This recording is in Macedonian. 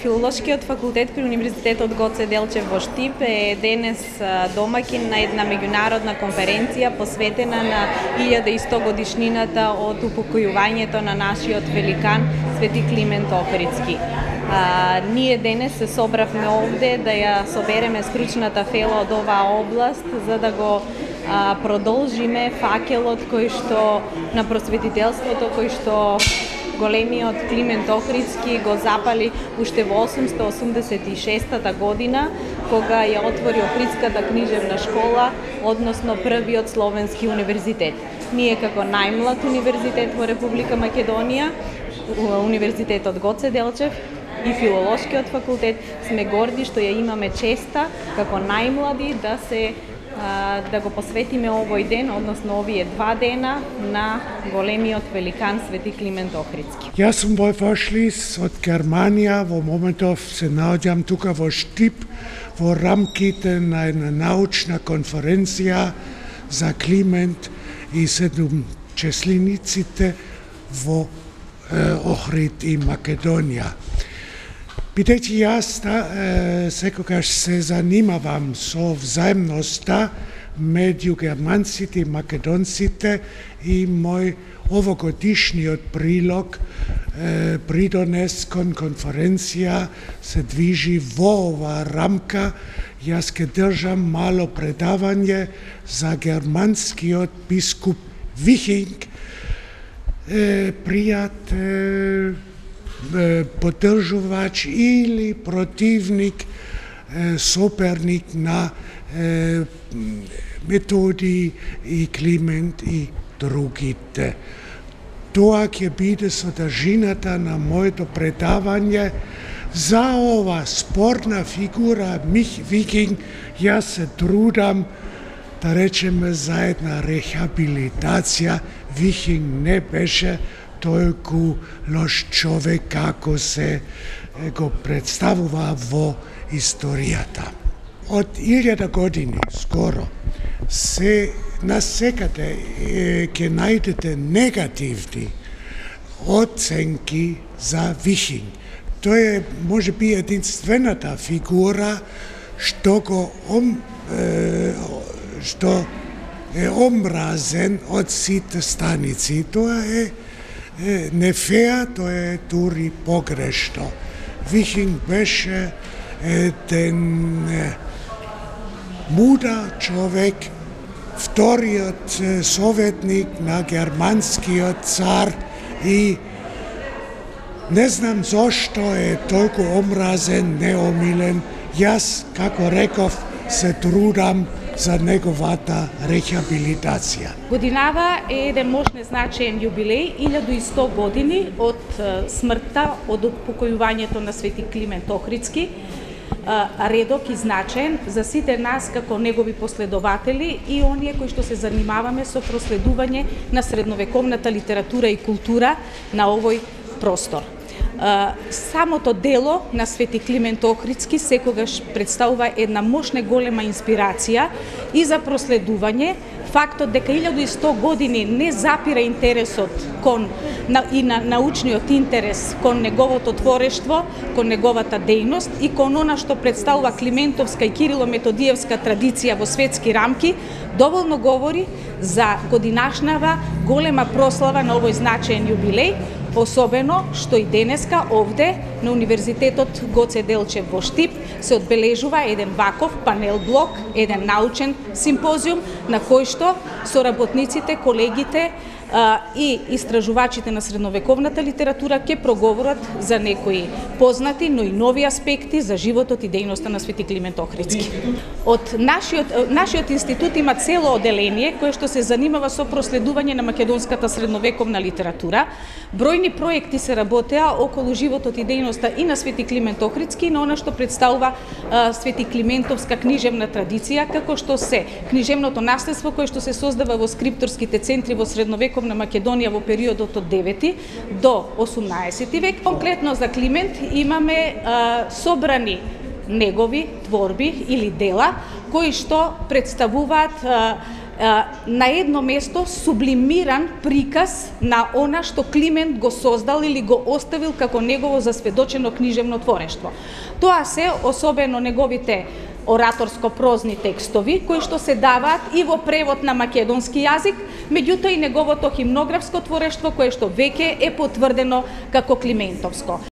Филолошкиот факултет при Универзитетот Гоце Делчев во Штип е денес домаќин на една меѓународна конференција посветена на 1100 годишнината од упокојувањето на нашиот великан Свети Климент Охридски. Ние денес се собравме овде да ја собереме стручната фела од оваа област за да го продолжиме факелот кој што на просветителството кој што големиот Климент Охридски го запали уште во 886 година, кога ја отвори Охридската книжевна школа, односно првиот словенски универзитет. Ние како најмлад универзитет во Република Македонија, Универзитетот Гоце Делчев и Филолошкиот факултет сме горди што ја имаме честа како најмлади да го посветиме овој ден, односно овие 2 дена на големиот великан Свети Климент Охридски. Јас сум Вој Фошлис од Германија, во моментов се наоѓам тука во Штип во рамките на една научна конференција за Климент и седумчеслениците во Охрид и Македонија. Бидејќи јас секогаш се занимавам со взаемноста меѓу германците и македонците и мој овогодишниот прилог придонес кон конференција се движи во оваа рамка. Јас ке држам мало предавање за германскиот бискуп Вихинг, пријател, поддржувач или противник, соперник на Методи и Климент и другите. Тоа ќе биде содржината на моето предавање. За ова спорна фигура Вихинг јас се трудам да речеме за една рехабилитација. Вихинг не беше толку лош човек како се го представува во историјата. Од 1000 години скоро се насекаде ќе најдете негативни оценки за Вихинг. Тој е можеби единствената фигура што е омразен од сите станици. Тоа е не феа, тоа е дури погрешно. Вихинг беше еден мудар човек, вториот советник на германскиот цар и не знам зошто е толку омразен, неомилен. Јас, како реков, се трудам за неговата рехабилитација. Годинава е еден мощно значаен јубилеј, 1100 години од смртта, од упокојувањето на Свети Климент Охридски. Редок и значаен за сите нас како негови последователи и оние кои што се занимаваме со проследување на средновековната литература и култура на овој простор. Самото дело на Свети Климент Охридски секогаш представува една мощна голема инспирација и за проследување. Фактот дека 1100 години не запира интересот и на научниот интерес кон неговото творештво, кон неговата дејност и кон она што представува Климентовска и Кирило-Методиевска традиција во светски рамки, доволно говори за годинашнава голема прослава на овој значаен јубилеј, особено што и денеска овде на Универзитетот Гоце Делчев во Штип се одбележува еден ваков панел блок, еден научен симпозиум на кој што соработниците, колегите и истражувачите на средновековната литература ќе проговорат за некои познати, но и нови аспекти за животот и дејноста на Свети Климент Охридски. Од нашиот институт има цело оделение кое што се занимава со проследување на македонската средновековна литература. Бројни проекти се работеа околу животот и дејноста и на Свети Климент Охридски, но она што представува Свети Климентовска книжевна традиција, како што се книжевното наследство кое што се создава во скрипторските центри во средновековна Македонија во периодот од 9 до 18 век. Конкретно за Климент имаме собрани негови творби или дела кои што представуваат на едно место сублимиран приказ на она што Климент го создал или го оставил како негово засведочено книжевно творештво. Тоа се особено неговите ораторско-прозни текстови, кои што се даваат и во превод на македонски јазик, меѓутоа и неговото химнографско творештво, кое што веќе е потврдено како Климентовско.